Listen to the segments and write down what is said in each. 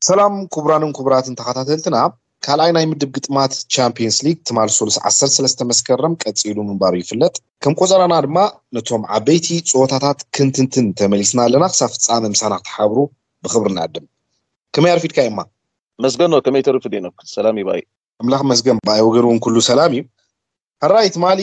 ሰላም ክቡራንን ክቡራትን ተኸታተልትና፣ ካልኣይ ናይ ምድብ ግጥማት ቻምፒየንስ ሊግ ትማል ሶሉስ ዓሰርተ ሰለስተ መስከረም ቀጺሉ ምንባሩ ይፍለጥ። ከም ቆጸራና ድማ ነቶም ዓበይቲ ጸወታታት ክንትንትን ተመሊስና ኣለና። ክሳብ ፍጻመ ምሳና ክትሓብሩ ብኽብሪ ንዕድም። ከመይ ኣርፊድካ እማ? መስገኖ፣ ከመይ ተርፍ ዲኖክ? ሰላም ይባይ። ኣምላኽ መስገን፣ ብኣይ ወገን እውን ኩሉ ሰላም እዩ። ሕራይ ትማሊ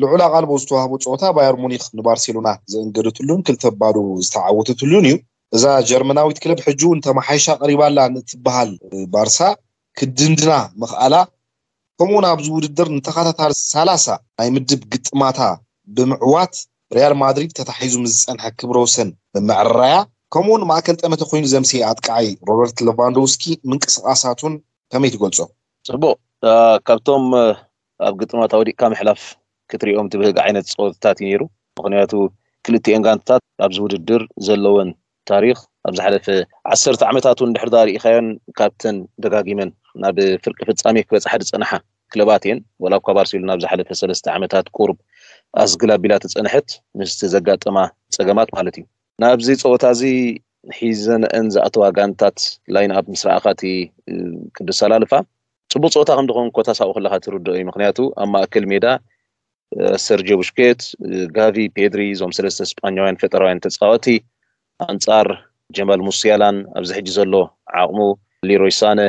ልዑል ኣቓልቦ ዝተዋህቦ ጸወታ ባየር ሙኒክ ንባርሴሎና ዘእንገደትሉን ክልተ ባዶ ዝተዓወተትሉን እዩ። እዛ ጀርመናዊት ክለብ ሕጂ እውን ተመሓይሻ ቀሪባላ ንትበሃል ባርሳ ክድንድና ምኽኣላ፣ ከምኡውን ኣብዚ ውድድር ንተኸታታሊ ሰላሳ ናይ ምድብ ግጥማታ ብምዕዋት ሪያል ማድሪድ ተታሒዙ ምስ ዝጸንሐ ክብረ ወሰን ብምዕራያ፣ ከምኡውን ማእከል ጠመተ ኮይኑ ዘምስየ ኣጥቃዓይ ሮበርት ሌቫንዶውስኪ ምንቅስቓሳቱን ከመይ ትገልጾ? ጽቡቕ። ካብቶም ኣብ ግጥማት ኣውዲቕካ ምሕላፍ ክትሪኦም ትብህግ ዓይነት ጸወታታት እዩ ነይሩ። ምኽንያቱ ክልቲኤን ጋንታት ኣብዚ ውድድር ዘለወን ታሪኽ ኣብ ዝሓለፈ ዓሰርተ ዓመታት እውን ድሕር ዳ ርኢኻዮን ካብተን ደጋጊመን ናብ ፍርቂ ፍጻሜ ክበጽሓ ዝጸንሓ ክለባት እየን። ወላ እኳ ባርሴሎና ኣብ ዝሓለፈ ሰለስተ ዓመታት ቁሩብ ኣዝግል ኣቢላ ተጸንሐት ምስቲ ዘጋጠማ ጸገማት ማለት እዩ። ናብዚ ጸወታ እዚ ሒዘንአን ዝኣተዋ ጋንታት ላይን ኣፕ ምስ ረኣኻ እቲ ቅዱስ ኣሰላልፋ ጽቡቕ ጸወታ ከም ዝኾን ኮታ ሳኡ ከለኻ ትርድኦ እዩ። ምክንያቱ ኣብ ማእከል ሜዳ ሰርጂዮ ቡሽኬት፣ ጋቪ፣ ፔድሪ፣ እዞም ሰለስተ ስጳኛውያን ፈጠራውያን ተጻወቲ ኣንጻር ጀማል ሙሲያላን ኣብዚ ሕጂ ዘሎ ዓቕሙ ሊሮይ ሳነ፣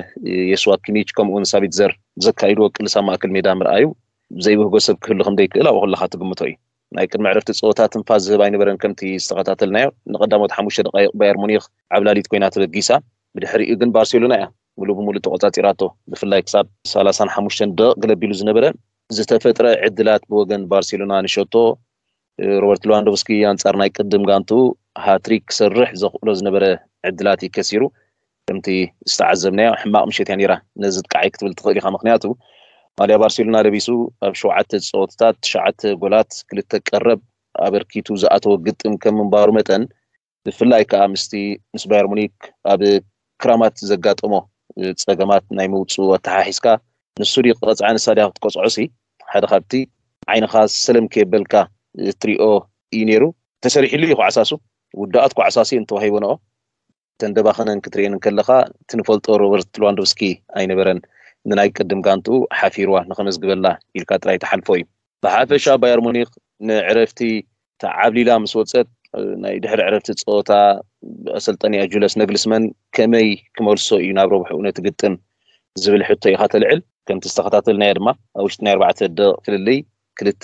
የስዋ ኪሚች ከምኡውን ሳቢትዘር ዘካይድዎ ቅልስ ኣብ ማእከል ሜዳ ምርኣዩ ዘይብህጎ ሰብ ክህሉ ከም ዘይክእል ኣብኡ ከለኻ ትግምቶ እዩ። ናይ ቅድሚ ዕረፍቲ ጸወታ ትንፋስ ዝህብ ኣይነበረን። ከምቲ ዝተኸታተልናዮ ንቐዳሞት ሓሙሽተ ደቃይቕ ባየር ሙኒክ ዓብላሊት ኮይና ተበጊሳ። ብድሕሪኡ ግን ባርሴሎና እያ ሙሉእ ብሙሉእ ተቆጻጺራቶ። ብፍላይ ክሳብ ሰላሳን ሓሙሽተን ደቂቕ ገለቢሉ ዝነበረ ዝተፈጥረ ዕድላት ብወገን ባርሴሎና ንሸቶ ሮበርት ሌዋንዶቭስኪ ኣንጻር ናይ ቅድም ጋንቱ ሃትሪክ ክሰርሕ ዘኽእሎ ዝነበረ ዕድላት እዩ ከሲሩ። ከምቲ ዝተዓዘብናዮ ሕማቕ ምሸት እያ ነይራ። ነዚ ጥቃዓይ ክትብል ትኽእል ኢኻ። ምክንያቱ ማልያ ባርሴሎና ለቢሱ ኣብ ሸውዓተ ጸወታታት ትሽዓተ ጎላት ክልተ ቀረብ ኣበርኪቱ ዝኣተወ ግጥም ከም ምንባሩ መጠን ብፍላይ ከዓ ምስቲ ምስ ባየር ሙኒክ ኣብ ክራማት ዘጋጠሞ ጸገማት ናይ ምውፅኡ ኣተሓሒዝካ ንሱ ድዩ ክቐፅዓ ንሳ ድያ ክትቆፅዖ ሲ ሓደ ካብቲ ዓይንኻ ሰለም ከየበልካ እትሪኦ እዩ ነይሩ። ተሰሪሕሉ እዩ ክዓሳሱ ውዳኣት ክዓሳሲ እንተዋሂቦ ነኦ ተንደባኸነን ክትርእየን እንከለኻ ትንፈልጦ ሮበርት ሌዋንዶቭስኪ ኣይነበረን። ንናይ ቅድም ጋንትኡ ሓፊርዋ ንኸመዝግበላ ኢልካ ጥራይ ትሓልፎ እዩ። ብሓፈሻ ባየር ሙኒክ ንዕረፍቲ ተዓብሊላ ምስ ወፀት ናይ ድሕሪ ዕረፍቲ ፀወታ ኣሰልጠኒኣ ጁለስ ነግልስመን ከመይ ክመልሶ እዩ ናብ ረብሕኡ ነቲ ግጥም ዝብል ሕቶ ኢኻ ተልዕል። ከምቲ ዝተኸታተልናዮ ድማ ኣብ ውሽጢ ናይ ኣርባዕተ ደቂቕ ፍልልይ ክልተ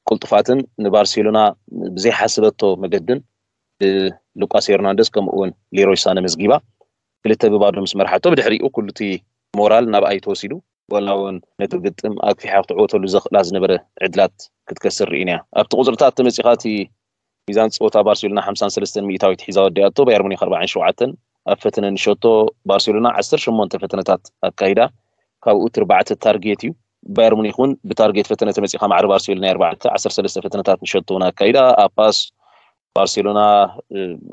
ቅልጡፋትን ንባርሴሎና ብዘይሓስበቶ መገድን ብሉቃስ ሄርናንደስ ከምኡ እውን ሌሮይ ሳነ መዝጊባ ክልተ ብባዶ ምስ መርሓቶ ብድሕሪኡ ኩሉ እቲ ሞራል ናብኣይ ተወሲዱ ወላ እውን ነቲ ግጥም ኣግፊሓ ክትዕወተሉ ዘኽእላ ዝነበረ ዕድላት ክትከስር ርኢና ኣብቲ ቁፅርታት ተመፂኻ እቲ ሚዛን ፀወታ ባርሴሎና ሓምሳን ሰለስተን ሚእታዊት ሒዛ ወዲኣቶ ባየር ሙኒክ ኣርባዓን ሸውዓተን ኣብ ፈተነ ንሸቶ ባርሴሎና ዓሰርተ ሸሞንተ ፈተነታት ኣካይዳ ካብኡ ትርባዕተ ታርጌት እዩ። ባየር ሙኒክ እውን ብታርጌት ፈተነ ተመፂኻ ማዕረ ባርሴሎና ኣርባዕተ ዓሰርተ ሰለስተ ፈተነታት ንሸቶ እውን ኣካይዳ ኣብ ፓስ ባርሴሎና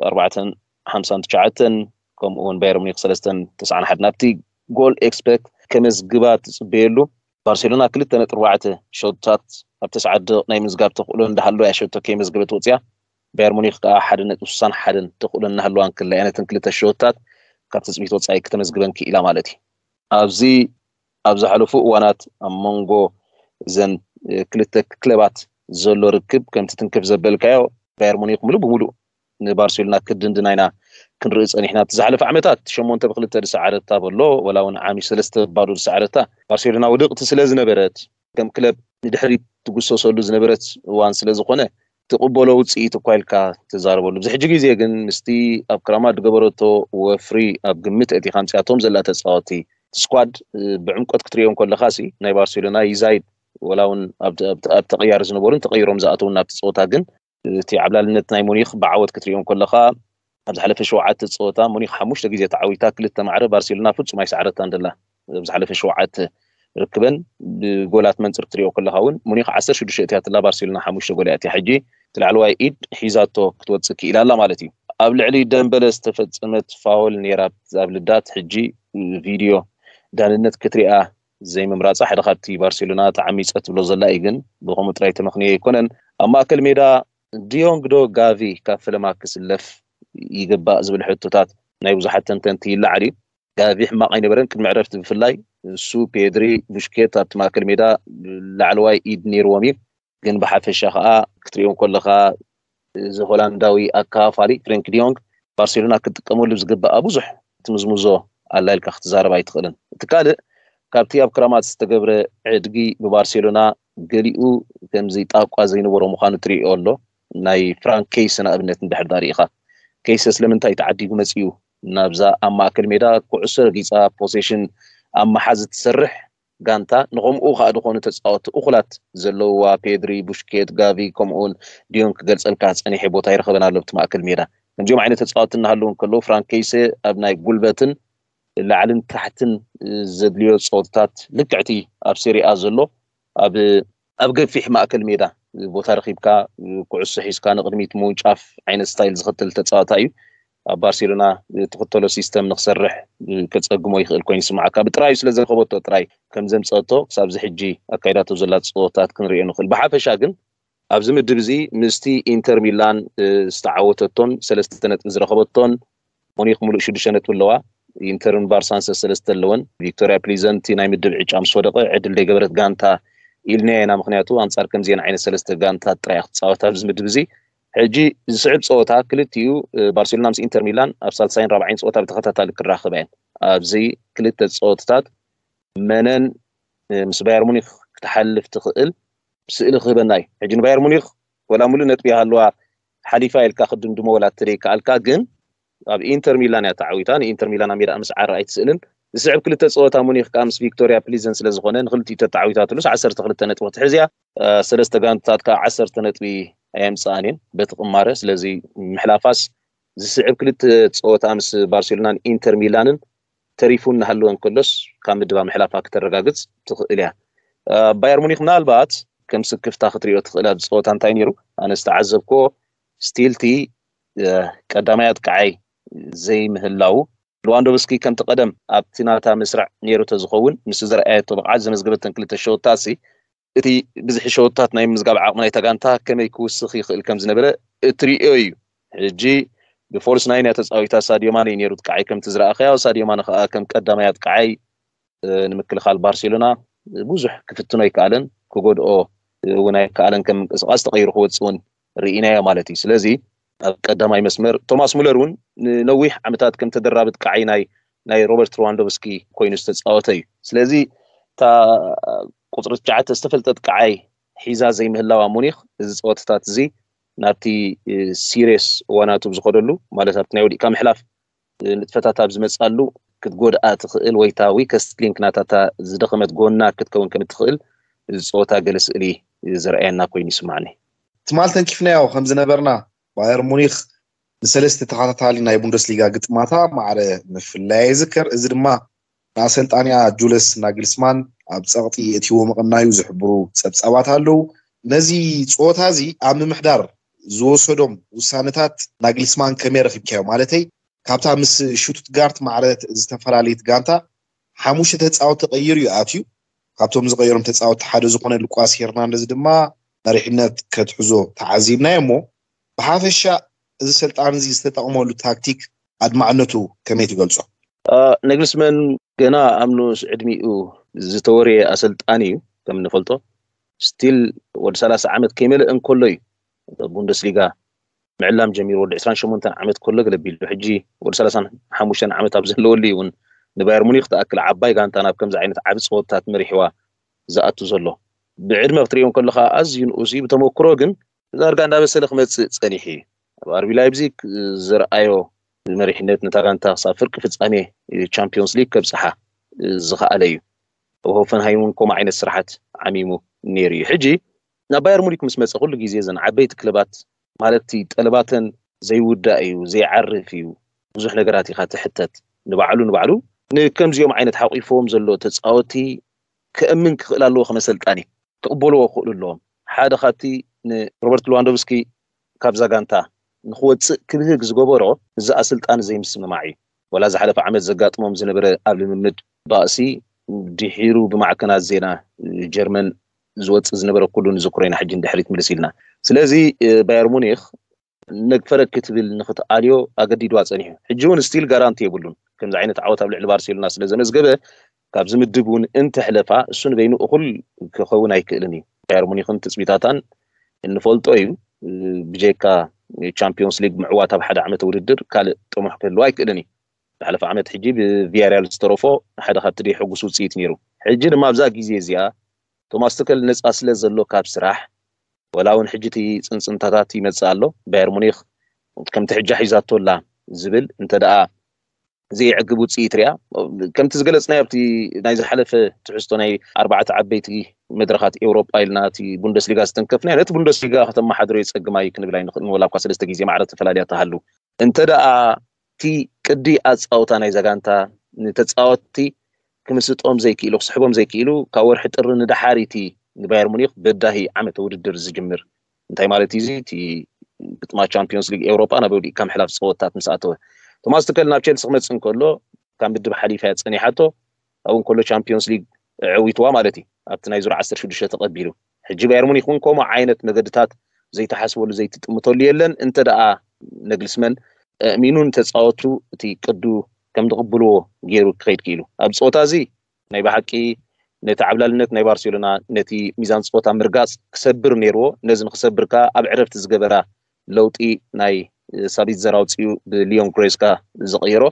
ኣርባዕተን ሓምሳን ትሽዓተን ከምኡ እውን ባየር ሙኒክ ሰለስተን ተስዓን ሓደን ኣብቲ ጎል ኤክስፐክት ከመዝግባ ትፅበየሉ ባርሴሎና ክልተ ነጥቢ ኣርባዕተ ሸቶታት ኣብ ተስዓተ ናይ ምዝጋብ ተኽእሎ እንዳሃለወ እያ ሸቶ ከይመዝገበት ወፅያ። ባየር ሙኒክ ከዓ ሓደ ነጥቢ ስሳን ሓደን ተኽእሎ እናሃለዋ እንክላ እያ ነተን ክልተ ሸቶታት ካብ ትፅቢት ወፃኢ ክተመዝግበን ክኢላ ማለት እዩ። ኣብዚ ኣብ ዝሓለፉ እዋናት ኣብ መንጎ እዘን ክልተ ክለባት ዘሎ ርክብ ከምቲ ትንክፍ ዘበልካዮ ባየር ሙኒክ ሙሉእ ብሙሉእ ንባርሴሎና ክድንድና ኢና ክንርኢ ፀኒሕና። እቲ ዝሓለፈ ዓመታት ሸሞንተ ብክልተ ዝሰዓረታ በሎ ወላ እውን ዓሚ ሰለስተ ባዶ ዝሰዓረታ ባርሴሎና ውድቕቲ ስለ ዝነበረት ከም ክለብ ንድሕሪት ትጉሰሰሉ ዝነበረት እዋን ስለ ዝኾነ ትቕበሎ ውፅኢት እኳ ኢልካ ትዛረበሉ። ኣብዚ ሕጂ ግዜ ግን ምስቲ ኣብ ክራማት ዝገበረቶ ወፍሪ ኣብ ግምት ኣእቲኻ ኣምፅኣቶም ዘላ ተፃወቲ እቲ ስኳድ ብዕምቆት ክትሪኦም ከለኻ ሲ ናይ ባርሴሎና ይዛይድ ወላ እውን ኣብ ተቐያሪ ዝነበሩን ተቐይሮም ዝኣተውን ናብቲ ፀወታ ግን እቲ ዓብላልነት ናይ ሙኒክ ብዓወት ክትሪኦም ከለኻ ኣብ ዝሓለፈ ሸውዓተ ፀወታ ሙኒክ ሓሙሽተ ግዜ ተዓዊታ ክልተ ማዕረ ባርሴሎና ፍፁም ኣይሰዓረታን ደላ ኣብ ዝሓለፈ ሸውዓተ ርክበን ብጎላት መንፅር ክትሪኦ ከለኻ እውን ሙኒክ ዓሰርተ ሽዱሽተ እትያትላ ባርሴሎና ሓሙሽተ ጎል እያ ሕጂ እቲ ላዕለዋይ ኢድ ሒዛቶ ክትወፅእ ክኢላ ኣላ ማለት እዩ። ኣብ ልዕሊ ደምበለ ዝተፈፀመት ፋውል ነይራ ኣብ ልዳት ሕጂ ቪድዮ ዳንነት ክትሪኣ ዘይምምራፃ ሓደ ካብቲ ባርሴሎና ተዓሚፀ ትብሎ ዘላ እዩ ግን ብከምኡ ጥራይ ተመክንዮ ኣይኮነን። ኣብ ማእከል ሜዳ ዲዮንግ ዶ ጋቪ ካብ ፈለማ ክስለፍ ይግባእ ዝብል ሕቶታት ናይ ብዙሓት ተንተንቲ ይለዓል እዩ። ጋቪ ሕማቕ ኣይነበረን። ቅድሚ ዕረፍቲ ብፍላይ እሱ፣ ፔድሪ፣ ቡሽኬት ኣብቲ ማእከል ሜዳ ላዕለዋይ ኢድ ነይርዎም እዩ። ግን ብሓፈሻ ከዓ ክትሪኦም ከለካ እዚ ሆላንዳዊ ኣካፋሊ ፍሬንክ ዲዮንግ ባርሴሎና ክትጥቀመሉ ዝግባኣ ብዙሕ ትምዝምዞ ኣላ ኢልካ ክትዛረብ ኣይትኽእልን። እቲ ካልእ፣ ካብቲ ኣብ ክራማት ዝተገብረ ዕድጊ ብባርሴሎና ገሊኡ ከምዚ ጣቋ ዘይነበሮ ምዃኑ ትሪኦ ኣሎ። ናይ ፍራንክ ኬይሰ ንኣብነት እንድሕር ዳኣ ርኢኻ፣ ኬይሰ ስለምንታይ ተዓዲጉ መፂኡ ናብዛ ኣብ ማእከል ሜዳ ኩዕሶ ረጊፃ ፖሴሽን ኣብ መሓዝ እትሰርሕ ጋንታ ንኸምኡ ከዓ ዝኾኑ ተፃወቲ እኹላት ዘለውዋ፣ ፔድሪ፣ ቡሽኬት፣ ጋቪ፣ ከምኡውን ዲዮን ክገልፀልካ ፀኒሐ ቦታ ይረኸበን ኣሎ ኣብቲ ማእከል ሜዳ። ከምዚኦም ዓይነት ተፃወቲ እናሃለዉ እንከለዉ ፍራንክ ኬይሰ ኣብ ናይ ጉልበትን ላዕልን ታሕትን ዘድልዮ ፀወትታት ልክዕቲ ኣብ ሴሪኣ ዘሎ ኣብ ኣብ ገፊሕ ማእከል ሜዳ ቦታ ረኺብካ ኩዕሶ ሒዝካ ንቕድሚት ምውንጫፍ ዓይነት ስታይል ዝኽተል ተፃዋታ እዩ። ኣብ ባርሴሎና ትኽተሎ ሲስተም ንክሰርሕ ከፀግሞ ይኽእል ኮይኑ ይስማዓካ። ብጥራዩ ስለ ዝረኸበቶ ጥራይ ከም ዘምፀአቶ ክሳብ እዚ ሕጂ ኣካይዳቶ ዘላ ፀወታት ክንሪኦ ንኽእል። ብሓፈሻ ግን ኣብዚ ምድብ እዚ ምስቲ ኢንተር ሚላን ዝተዓወተቶን ሰለስተ ነጥቢ ዝረኸበቶን፣ ሙኒክ ሙሉእ ሽዱሽተ ነጥቢ ኣለዋ። ኢንተርን ባርሳን ሰለስተ ኣለወን። ቪክቶሪያ ፕሊዘንቲ ናይ ምድብ ዕጫ ምስ ወደቐ ዕድል ደይገበረት ጋንታ ኢልናያ ኢና። ምክንያቱ ኣንጻር ከምዚአን ዓይነት ሰለስተ ጋንታት ጥራይ ክትፃወት ኣብዚ ምድብ እዚ። ሕጂ ዝስዕብ ፀወታ ክልቲኡ ባርሴሎና ምስ ኢንተር ሚላን ኣብ ሳልሳይን ራብዓይን ፀወታ ብተኸታታሊ ክራኸባ እየን። ኣብዚ ክልተ ፀወታታት መነን ምስ ባየር ሙኒክ ክትሓልፍ ትኽእል ስእሊ ክህበና እዩ። ሕጂ ንባየር ሙኒክ ወላ ሙሉእ ነጥቢ ይሃልዋ ሓሊፋ ኢልካ ክድምድሞ ወላ እተደይከኣልካ፣ ግን ኣብ ኢንተር ሚላን እያ ተዓዊታ። ንኢንተር ሚላን ኣብ ሜዳ ምስዓር ኣይትስእልን። ዝስዕብ ክልተ ፀወታ ሙኒክ ከዓ ምስ ቪክቶሪያ ፕሊዘን ስለ ዝኾነ ንክልቲኡ ተተዓዊታትሉስ ዓሰርተ ክልተ ነጥቢ ክትሕዝ እያ። ሰለስተ ጋንታት ከዓ ዓሰርተ ነጥቢ ኣየምፅኣን እየን በቲ ቅማረ። ስለዚ ምሕላፋስ ዝስዕብ ክልተ ፀወታ ምስ ባርሴሎናን ኢንተር ሚላንን ተሪፉ እናሃለወ እንከሎስ ካብ ምድባ ምሕላፋ ክተረጋግፅ ትኽእል እያ። ባየር ሙኒክ ምናልባት ከም ስክፍታ ክትሪኦ ትኽእል ኣብዚ ፀወታ እንታይ ነይሩ? ኣነ ዝተዓዘብኮ ስቲልቲ ቀዳማይ ኣጥቃዓይ ዘይምህላው፣ ሉዋንዶቭስኪ ከምቲ ቀደም ኣብቲ ናታ መስርዕ ነይሩ ተዝኸውን ምስ ዘርኣየቶ ብቕዓት ዘመዝገበተን ክልተ ሸወታት ሲ እቲ ብዝሒ ሸወታት ናይ ምዝጋብ ዓቕሚ ናይታ ጋንታ ከመይ ክውስኽ ይኽእል ከም ዝነበረ እትርእዮ እዩ። ሕጂ ብፎልስ ናይን እያ ተፃዊታ፣ ሳድዮ ማነ እዩ ነይሩ ጥቃዓይ ከምቲ ዝረኣኸያ። ሳድዮ ማነ ከዓ ከም ቀዳማይ ኣጥቃዓይ ንምክልኻል ባርሴሎና ብዙሕ ክፍትኖ ኣይከኣለን፣ ክጎድኦ እውን ኣይከኣለን። ከም ምንቅስቃስ ተቐይሩ ክወፅእ እውን ርኢናዮ ማለት እዩ። ስለዚ ኣብ ቀዳማይ መስመር ቶማስ ሙለር እውን ንነዊሕ ዓመታት ከም ተደራቢ ጥቃዓይ ናይ ናይ ሮበርት ሉዋንዶቭስኪ ኮይኑ ዝተፃወተ እዩ። ስለዚ እታ ቁፅሪ ትሽዓተ ዝተፈልጠ ጥቃዓይ ሒዛ ዘይምህላዋ ሙኒክ እዚ ፀወታታት እዚ ናብቲ ሲሪየስ እዋናቱ ብዝኸደሉ ማለት ኣብቲ ናይ ወዲእካ ምሕላፍ ንጥፈታት ኣብ ዝመፅኣሉ ክትጎድኣ ትኽእል ወይ እታ ዊከስት ሊንክ ናታታ ዝደኸመት ጎና ክትከውን ከም እትኽእል እዚ ፀወታ ገለ ስእሊ ዘርኣየና ኮይኑ ይስማዕኒ። ትማል ተንኪፍናዮ ከም ዝነበርና ባየር ሙኒክ ንሰለስተ ተኸታታሊ ናይ ቡንደስሊጋ ግጥማታ ማዕረ ምፍላያ ይዝከር። እዚ ድማ ንኣሰልጣኒኣ ጁለስ ናግልስማን ኣብ ጸቕጢ የእትይዎ ምቕናዩ ዝሕብሩ ጸብጻባት ኣለዉ። ነዚ ጸወታ እዚ ኣብ ምምሕዳር ዝወሰዶም ውሳነታት ናግልስማን ከመይ ረኺብካዮ? ማለተይ ካብታ ምስ ሽቱትጋርት ማዕረ ዝተፈላለየት ጋንታ ሓሙሽተ ተጻወቲ ቀይሩ እዩ ኣትዩ። ካብቶም ዝቐየሮም ተጻወቲ ሓደ ዝኾነ ሉቃስ ሄርናንደዝ ድማ መሪሕነት ከትሕዞ ተዓዚብናዮ እሞ ብሓፈሻ እዚ ሰልጣን እዚ ዝተጠቕመሉ ታክቲክ ኣድማዕነቱ ከመይ ትገልጾ? ነግልስመን ገና ኣብ ንኡስ ዕድሚኡ ዝተወርየ ኣሰልጣኒ እዩ። ከም እንፈልጦ ስቲል ወዲ ሰላሳ ዓመት ከይመልእ እንከሎ እዩ ቡንደስሊጋ ምዕላም ጀሚሩ። ወዲ ዕስራን ሸሞንተን ዓመት ከሎ ገለ ቢሉ ሕጂ ወዲ ሰላሳን ሓሙሽተን ዓመት ኣብ ዘለወሉ እዩ እውን ንባየር ሙኒክ ትኣክል ዓባይ ጋንታ ናብ ከምዚ ዓይነት ዓቢ ፀወታት መሪሕዋ ዝኣቱ ዘሎ። ብዕድመ ክትሪኦ እንከለካ ኣዝዩ ንኡስ እዩ። ብተመክሮ ግን ዳርጋ እንዳበሰለ ክመፅእ ፀኒሑ እዩ። ኣብ ኣርቢ ላይፕዚግ ዝረኣዮ መሪሕነት ነታ ጋንታ ክሳብ ፍርቂ ፍፃሜ ቻምፒዮንስ ሊግ ከብፅሓ ዝኸኣለ እዩ። ኣብ ሆፈንሃይም እውን ከምኡ ዓይነት ስራሓት ዓሚሙ ነይሩ እዩ። ሕጂ ናብ ባየር ሙኒክ ምስ መፀ ኩሉ ግዜ እዘን ዓበይቲ ክለባት ማለት እቲ ጠለባተን ዘይውዳእ እዩ፣ ዘይዓርፍ እዩ፣ ብዙሕ ነገራት ኢኻ ትሕተት። ንባዕሉ ንባዕሉ ንከምዚኦም ዓይነት ሓቂፎዎም ዘሎ ተፃወቲ ከእምን ክኽእል ኣለዎ። ከመ ኣሰልጣኒ ክቕበልዎ ክኽእሉ ኣለዎም። ሓደ ካብቲ ንሮበርት ሉዋንዶቭስኪ ካብዛ ጋንታ ንክወፅእ ክብህግ ዝገበሮ እዚ ኣሰልጣኒ ዘይምስምማዕ እዩ። ዋላ ዝሓለፈ ዓመት ዘጋጥሞም ዝነበረ ኣብ ልምምድ ባእሲ ድሒሩ ብማዕከናት ዜና ጀርመን ዝወፅእ ዝነበረ ኩሉ ንዝክሮ ኢና ሕጂ ንድሕሪት ምልስ ኢልና። ስለዚ ባየር ሙኒክ ነግፈረ ክትብል ንክትኣልዮ ኣገዲድዋ ፀኒሑ። ሕጂ እውን ስቲል ጋራንቲ የብሉን። ከምዚ ዓይነት ዓወት ኣብ ልዕሊ ባርሴሎና ስለ ዘመዝገበ፣ ካብዚ ምድብ እውን እንተሕለፋ፣ እሱ ንበይኑ እኹል ክኸውን ኣይክእልን እዩ። ባየር ሙኒኽን ትጽቢታታን እንፈልጦ እዩ። ብጀካ ቻምፒዮንስ ሊግ ምዕዋት ኣብ ሓደ ዓመት ውድድር ካልእ ጥሙሕ ክህልዎ ኣይክእልን እዩ። ዝሓለፈ ዓመት ሕጂ ብቪያሪያል ዝተረፎ ሓደ ካብቲ ደይ ሕጉስ ውፅኢት ነይሩ። ሕጂ ድማ ኣብዛ ግዜ እዚኣ ቶማስ ቱከል ነፃ ስለ ዘሎ ካብ ስራሕ፣ ወላ እውን ሕጂ እቲ ፅንፅንታታት ይመፅእ ኣሎ። ባየር ሙኒክ ከምቲ ሕጂ ሒዛቶ ኣላ ዝብል እንተ ደኣ ዘየዕግብ ውፅኢት ሪኣ፣ ከምቲ ዝገለፅናዮ ኣብቲ ናይ ዝሓለፈ ትሕዝቶ ናይ ኣርባዕተ ዓበይቲ መድረኻት ኤውሮጳ ኢልና እቲ ቡንደስሊጋ ዝተንከፍናዮ፣ ነቲ ቡንደስሊጋ ከተመሓድሮ የፀግም እዩ ክንብል ኣይንኽእልን፣ ወላ እኳ ሰለስተ ግዜ ማዕረ ተፈላለያ ተሃሉ። እንተ ደኣ እቲ ቅዲ ኣፃውታ ናይ ዛጋንታ ንተፃወትቲ ክምስጦም ዘይክኢሉ፣ ክስሕቦም ዘይክኢሉ፣ ካብ ወርሒ ጥሪ ንደሓር እቲ ንባየር ሙኒክ በዳሂ ዓመተ ውድድር ዝጅምር። እንታይ ማለት እዩ እዚ? እቲ ግጥማ ቻምፒዮንስ ሊግ ኤውሮጳ ናብ ወዲእካ ምሕላፍ ፀወታት ምስ ኣተወ። ቶማስ ቱከል ናብ ቸልሲ ክመፅእ እንከሎ ካብ ምድብ ሓሊፋ እያ ፀኒሓቶ። ኣብኡ እንከሎ ቻምፒዮንስ ሊግ ዕዊትዋ ማለት እዩ። ኣብቲ ናይ ዙር ዓሰርተ ሽዱሽተ ተቐቢሉ። ሕጂ ባየር ሙኒክ እውን ከምኡ ዓይነት መገድታት ዘይተሓስበሉ ዘይትጥምተሉ የለን። እንተ ደኣ ነግልስመን ኣእሚኑ ንተፃወቱ እቲ ቅዱ ከም ዝቕብልዎ ገይሩ ክኸይድ ክኢሉ። ኣብ ፀወታ እዚ ናይ ብሓቂ ነቲ ዓብላልነት ናይ ባርሴሎና ነቲ ሚዛን ፀወታ ምርጋፅ ክሰብር ነይርዎ። ነዚ ንክሰብር ከኣ ኣብ ዕረፍቲ ዝገበራ ለውጢ ናይ ሳቢትዘር ኣውፂኡ ብሊዮን ግሬስካ ዝቐየሮ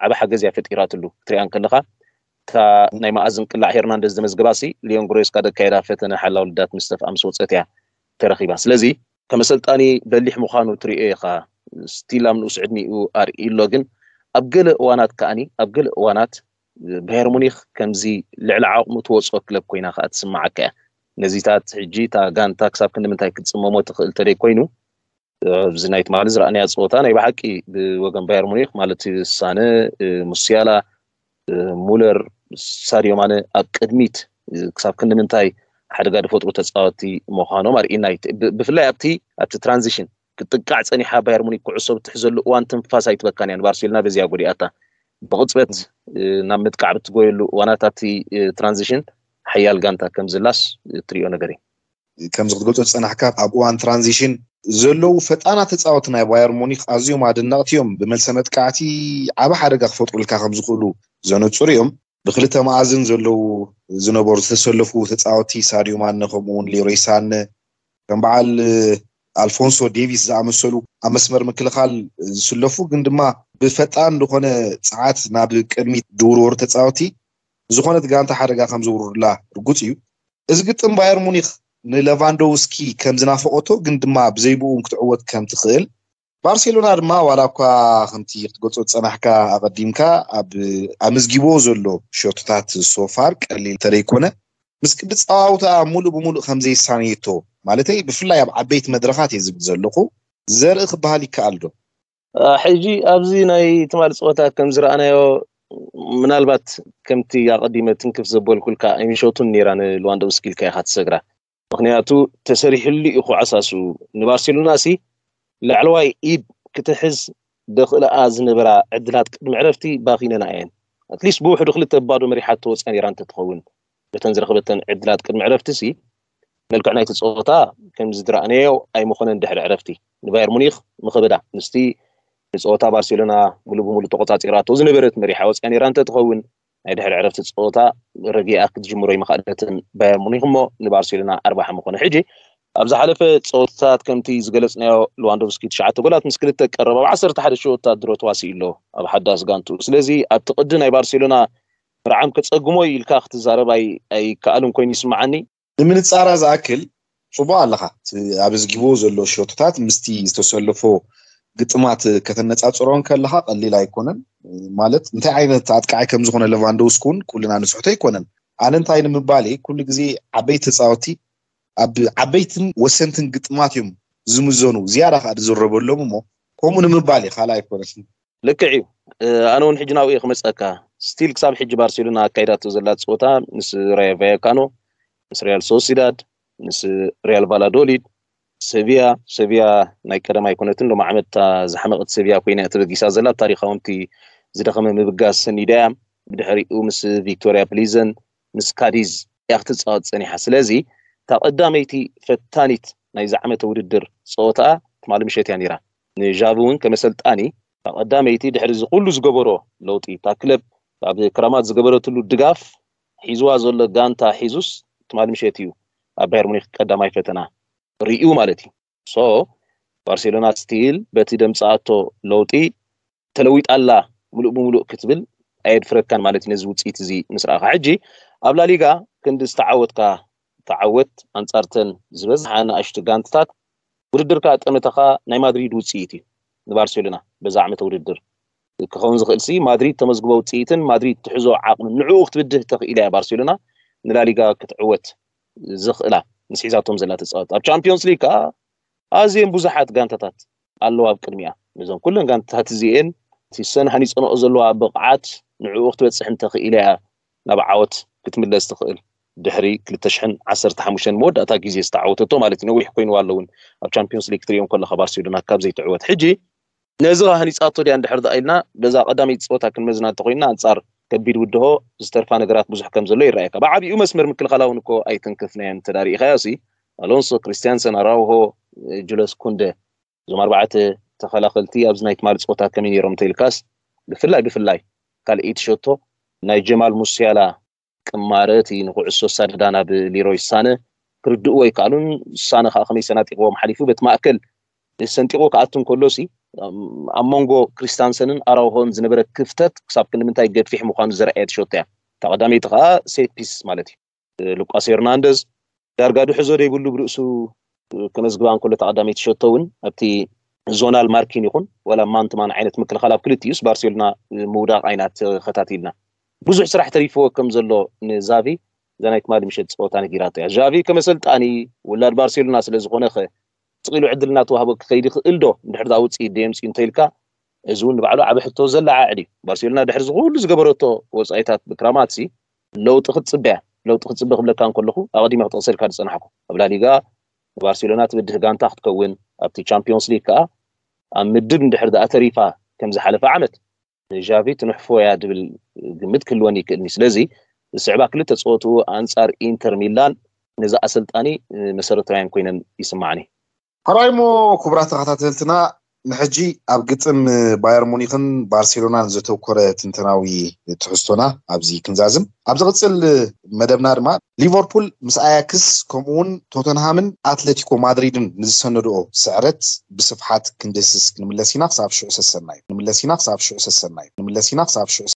ዓቢ ሓገዝ እያ ፈጢራትሉ። ክትሪኣ እንከለኻ እታ ናይ መኣዝን ቅላዕ ሄርናንደዝ ዘመዝገባሲ ሊዮን ግሬስካ ዘካየዳ ፈተነ ሓላው ልዳት ምስ ተፍኣ ምስ ወፀት እያ ተረኺባ። ስለዚ ከም ኣሰልጣኒ በሊሕ ምዃኑ ትሪኦ ኢኻ። ስቲል ኣብ ንኡስ ዕድሚኡ ኣርእዩ ኣሎ፣ ግን ኣብ ገለ እዋናት ከኣኒ ኣብ ገለ እዋናት ባየር ሙኒክ ከምዚ ልዕሊ ዓቕሙ ትወፅኦ ክለብ ኮይና ከኣ ትስምዓካ እያ። ነዚታት ሕጂ እታ ጋንታ ክሳብ ክንዲ ምንታይ ክትፅመሞ ትኽእል ተደይ ኮይኑ፣ ኣብዚ ናይ ትማሊ ዝረኣናያ ፀወታ ናይ ብሓቂ ብወገን ባየር ሙኒክ ማለት ሳነ፣ ሙሲያላ፣ ሙለር፣ ሳድዮ ማነ ኣብ ቅድሚት ክሳብ ክንዲ ምንታይ ሓደጋ ዝፈጥሩ ተፃወቲ ምዃኖም ኣርእና እዩ። ብ- ብፍላይ ኣብቲ ኣብቲ ትራንዚሽን ክትጥቃዕ ፀኒሓ ባየር ሙኒክ ኩዕሶ ብትሕዘሉ እዋን ትንፋስ ኣይትበካን እያ። ንባርሴሎና በዚያ ጎዲኣታ። ብቕፅበት ናብ ምጥቃዕ ብትጎየሉ እዋናት ኣብቲ ትራንዚሽን ሓያል ጋንታ ከም ዝላስ ትሪኦ ነገር እዩ። ከምዚ ክትገልጾ ዝጸናሕካ ኣብ እዋን ትራንዚሽን ዘለዉ ፈጣናት ተጻወቲ ናይ ባየር ሙኒክ ኣዝዮም ኣደነቕቲ እዮም። ብመልሰ መጥቃዕቲ ዓቢ ሓደጋ ክፈጥሩልካ ከም ዝኽእሉ ዘነጽሩ እዮም። ብክልተ መኣዝን ዘለዉ ዝነበሩ ዝተሰለፉ ተጻወቲ ሳድዮ ማነ ከምኡ እውን ሌሮይ ሳነ ከም በዓል ኣልፎንሶ ዴቪስ ዝኣመሰሉ ኣብ መስመር ምክልኻል ዝስለፉ ግን ድማ ብፈጣን ዝኾነ ጸዓት ናብ ቅድሚት ዝውርወሩ ተጻወቲ ዝኾነት ጋንታ ሓደጋ ከም ዝውርዱላ ርጉጽ እዩ። እዚ ግጥም ባየር ሙኒክ ንለቫንዶውስኪ ከም ዝናፈቐቶ ግን ድማ ብዘይብኡ ክትዕወት ከም ትኽእል ባርሴሎና ድማ ዋላ እኳ ከምቲ ክትገልጾ ዝጸናሕካ ኣቐዲምካ ኣብ ኣመዝጊቦ ዘሎ ሸቶታት ሶፋር ቀሊል ተለይኮነ ምስ ቅዲ ጸዋውታ ሙሉእ ብሙሉእ ከም ዘይሳነየቶ ማለተይ ብፍላይ ኣብ ዓበይቲ መድረኻት እየ ዝብል ዘለኹ ዘርኢ ክበሃል ይከኣል ዶ? ሕጂ ኣብዚ ናይ ትማሊ ፀወታ ከም ዝረኣናዮ ምናልባት ከምቲ ኣቐዲመ ትንክፍ ዘበልኩልካ ኣይምሸቱን ነይራ ንልዋንዶውስኪ ኢልካ ኢኻ ትሰግራ። ምክንያቱ ተሰሪሕሉ እዩ ኩዓሳሱ ንባርሴሎና ሲ ላዕለዋይ ኢድ ክትሕዝ ደኽእልኣ ዝነበራ ዕድላት ቅድሚ ዕረፍቲ ባኺነና እየን። ኣትሊስት ብውሕዱ ክልተ ባዶ መሪሓቶ ወፅያ ነይራ እንተትኸውን በተን ዝረኸበተን ዕድላት ቅድሚ ዕረፍቲ ሲ መልክዕ ናይቲ ፀወታ ከም ዝድረኣነዮ ኣይምኾነን ድሕሪ ዕረፍቲ ንባየር ሙኒክ ምኸበዳ ምስቲ ንፀወታ ባርሴሎና ሙሉ ብሙሉ ተቆፃፂራቶ ዝነበረት መሪሓ ወፅያ ነይራ እንተትኸውን ናይ ድሕሪ ዕረፍቲ ፀወታ ረጊኣ ክትጅምሮ ይመኻእለትን ባየር ሙኒክ እሞ ንባርሴሎና ኣርባሓ ምኾነ ሕጂ ኣብ ዝሓለፈ ፀወታታት ከምቲ ዝገለፅናዮ ሉዋንዶቭስኪ ትሽዓተ ጎላት ምስ ክልተ ቀረብ ኣብ ዓሰርተ ሓደ ሸወታት ድሮ ተዋሲኡ ኣሎ ኣብ ሓዳስ ጋንቱ ስለዚ ኣብቲ ቅዲ ናይ ባርሴሎና ርዓም ከፀግሞ ኢልካ ክትዛረብ ኣይከኣልን ኮይኑ ይስምዓኒ። ንምንፃራ ዝኣክል ፅቡቅ ኣለኻ ኣብዝጊቦ ዘሎ ሸቶታት ምስቲ ዝተሰለፎ ግጥማት ከተነፃፅሮ ከለካ ቀሊል ኣይኮነን ማለት እንታይ ዓይነት ኣጥቃዓይ ከምዝኮነ ለቫንዶውስኪ እውን ኩልና ንስሕቶ ኣይኮነን ኣነ እንታይ ንምባል ኩሉ ግዜ ዓበይቲ ተፃወቲ ኣብ ዓበይትን ወሰንትን ግጥማት እዮም ዝምዘኑ ዝያዳ ከዓ ዝዝረበሎም እሞ ከምኡ ንምባል እዩ ካልእ ኣይኮነን። ልክዕ እዩ። ኣነ እውን ሕጂ ናብኡ እየ ክመፀካ። ስቲል ክሳብ ሕጂ ባርሴሎና ኣካይዳቶ ዘላ ፀወታ ምስ ራዮ ቫያካኖ፣ ምስ ሪያል ሶሲዳድ፣ ምስ ሪያል ቫላዶሊድ፣ ሰቪያ ሰቪያ ናይ ቀደም ኣይኮነትን ሎሚ ዓመት ዝሓመቀት ሰቪያ ኮይና ተበጊሳ ዘላ ታሪካዊ ምቲ ዝደኸመ ምብጋስ ሰኒዳ እያ። ብድሕሪኡ ምስ ቪክቶሪያ ፕሊዘን ምስ ካዲዝ እያ ክትፃወት ፀኒሓ። ስለዚ እታ ቀዳመይቲ ፈታኒት ናይዚ ዓመተ ውድድር ፀወታኣ ትማሊ ምሸት እያ ነይራ። ንዣቪ እውን ከመሰልጣኒ ቀዳመይቲ ድሕሪ እዚ ኩሉ ዝገበሮ ለውጢ፣ እታ ክለብ ኣብ ክራማት ዝገበረትሉ ድጋፍ፣ ሒዝዋ ዘሎ ጋንታ ሒዙስ ትማሊ ምሸት እዩ ኣብ ባየር ሙኒክ ቀዳማይ ፈተና ርእዩ ማለት እዩ። ሶ ባርሴሎና ስቲል በቲ ደምፃኣቶ ለውጢ ተለዊጣላ ሙሉእ ብሙሉእ ክትብል ኣየድፍረካን ማለት እዩ። ነዚ ውፅኢት እዚ ምስ ረኣኻ ሕጂ ኣብ ላሊጋ ክንዲ ዝተዓወትካ ተዓወት፣ ኣንጻርተን ዝበዝሓ ንኣሽቱ ጋንትታት ውድድርካ ጠመተኻ ናይ ማድሪድ ውፅኢት እዩ ንባርሴሎና በዛ ዓመተ ውድድር ክኸውን ዝኽእል ሲ ማድሪድ ተመዝግቦ ውፅኢትን ማድሪድ ትሕዞ ዓቕምን ንዕኡ ክትብድህ ተኽኢላ እያ ባርሴሎና ንላሊጋ ክትዕወት ዝኽእላ ምስ ሒዛቶም ዘላ ተፃወት። ኣብ ቻምፒዮንስ ሊግ ከዓ ኣዝየን ብዙሓት ጋንታታት ኣለዋ ኣብ ቅድሚያ። ነዞም ኩለን ጋንታታት እዚኤን እቲ ሰን ሃኒፀንኦ ዘለዋ ብቕዓት ንዕኡ ክትበፅሕ እንተኽኢለ እያ ናብ ዓወት ክትምለስ ትኽእል። ድሕሪ ክልተ ሽሕን ዓሰርተ ሓሙሽተን መወዳእታ ግዜ ዝተዓወተቶ ማለት እዩ። ነዊሕ ኮይኑ ኣሎ እውን ኣብ ቻምፒዮንስ ሊግ ክትሪኦም ከለካ ባርሴሎና ካብ ዘይትዕወት። ሕጂ ነዚ ሃኒፃቶ ድያ እንድሕር ደኣ ኢልና በዛ ቀዳመይቲ ፀወታ ክንመዝና እንተኮይንና ኣንፃር ከቢድ ውድሆ ዝተርፋ ነገራት ብዙሕ ከም ዘሎ ይረኣየካ። ብዓቢኡ መስመር ምክልኻላ እውን እኮ ኣይትንክፍናዮን እንተዳሪእካዮ ሲ ኣሎንሶ፣ ክሪስቲያንሰን፣ ኣራውሆ፣ ጁለስ ኩንደ እዞም ኣርባዕተ ተኸላኸልቲ ኣብዚ ናይ ትማሊ ፀወታ ከመይ ነይሮም እንተኢልካስ ብፍላይ ብፍላይ ካልኣይቲ ሸቶ ናይ ጀማል ሙሲያላ ቅማረ እቲ ንኩዕሶ ኣሳድዳ ናብ ሊሮይ ሳነ ክርድእዎ ኣይከኣሉን። ሳነ ከዓ ከመይ ሰናጢቕዎም ሓሊፉ በቲ ማእከል ሰንጢቑ ክኣቱ እንከሎ ሲ ኣብ መንጎ ክሪስታንሰንን ኣራውሆን ዝነበረ ክፍተት ክሳብ ክንዲ ምንታይ ገፊሕ ምዃኑ ዘርኣየት ሸቶ እያ። እታ ቀዳመይቲ ከዓ ሴት ፒስ ማለት እዩ። ሉቃስ ሄርናንደዝ ዳርጋ ድሕዞ ዘይብሉ ብርእሱ ከመዝግባ እንከሎ ተቐዳመይቲ ሸቶ እውን ኣብቲ ዞናል ማርኪን ይኹን ወላ ማንትማን ዓይነት ምክልኻል ኣብ ክልቲኡስ ባርሴሎና ምውዳቕ ኣይና ተኸታቲልና ብዙሕ ስራሕ ተሪፍዎ ከም ዘሎ ንዛቪ እዛ ናይ ትማሊ ምሸት ፀወታ ነጊራቶ እያ። ዛቪ ከመሰልጣኒ ውላድ ባርሴሎና ስለ ዝኾነ ኸ ስቕ ኢሉ ዕድል እናተዋህቦ ክኸይድ ይኽእል ዶ እንድሕር ዳ ውፅኢት ደየምፅኡ እንተኢልካ እዚ እውን ንባዕሉ ዓብ ሕቶ ዘለዓዕል እዩ። ባርሴሎና ድሕሪ ዝኩሉ ዝገበረቶ ወፃኢታት ብክራማት ሲ ለውጢ ክትፅበያ ለውጢ ክትፅበ ክብለካ እንከለኹ ኣቐዲመ ክጠቕሰልካ ዝፀናሕኩ ኣብ ላሊጋ ንባርሴሎና ትብድህ ጋንታ ክትከውን ኣብቲ ቻምፒዮንስ ሊግ ከዓ ኣብ ምድብ እንድሕር ደኣ ተሪፋ ከም ዝሓለፈ ዓመት ንዣቪ ትንሕፎ እያ ድብል ግምት ክህልወኒ ይክእልኒ። ስለዚ ዝስዕባ ክልተ ፀወትኡ ኣንፃር ኢንተር ሚላን ነዚ ኣሰልጣኒ መሰረታውያን ኮይነን ይስማዓኒ። ካልኣይ ሞ ክቡራት ተኸታተልትና ንሕጂ ኣብ ግጥም ባየር ሙኒክን ባርሴሎናን ዘተኮረ ትንተናዊ ትሕዝቶና ኣብዚ ክንዛዝም ኣብ ዝቕፅል መደብና ድማ ሊቨርፑል ምስ ኣያክስ ከምኡውን ቶተንሃምን ኣትለቲኮ ማድሪድን ንዝሰነድኦ ስዕረት ብስፍሓት ክንድህስስ ክንምለስ ኢና። ክሳብ ሽዑ ሰሰናዩ። ክንምለስ ኢና። ክሳብ ሽዑ ሰሰናዩ። ክንምለስ ኢና። ክሳብ ሽዑ